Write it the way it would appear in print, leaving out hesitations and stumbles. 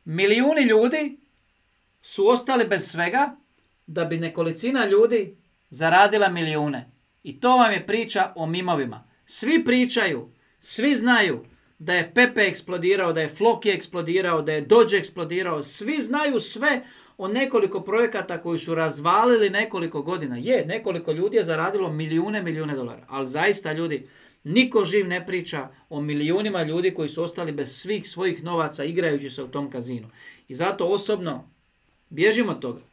Milijuni ljudi su ostali bez svega da bi nekolicina ljudi zaradila milijune. I to vam je priča o mimovima. Svi pričaju, svi znaju da je Pepe eksplodirao, da je Floki eksplodirao, da je Doge eksplodirao. Svi znaju sve o nekoliko projekata koji su razvalili nekoliko godina. Nekoliko ljudi je zaradilo milijune dolara. Ali zaista, ljudi, niko živ ne priča o milijunima ljudi koji su ostali bez svih svojih novaca igrajući se u tom kazinu. I zato osobno bježimo od toga.